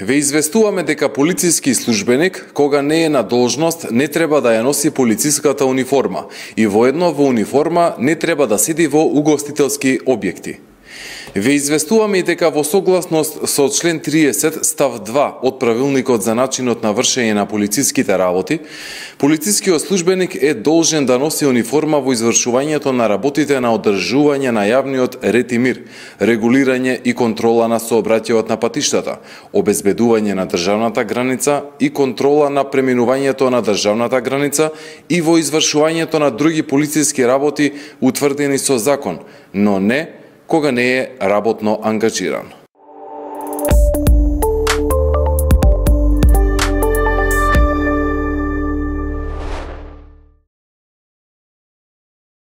Ве известуваме дека полициски службеник, кога не е на должност, не треба да ја носи полициската униформа и воедно во униформа не треба да седи во угостителски објекти. Ве известуваме и дека во согласност со член 30 став 2 од правилникот за начинот на вршење на полициските работи, полицискиот службеник е должен да носи униформа во извршувањето на работите на одржување на јавниот ред и мир, регулирање и контрола на сообраќајот на патиштата, обезбедување на државната граница и контрола на преминувањето на државната граница и во извршувањето на други полициски работи утврдени со закон, но не кога не е работно ангажиран.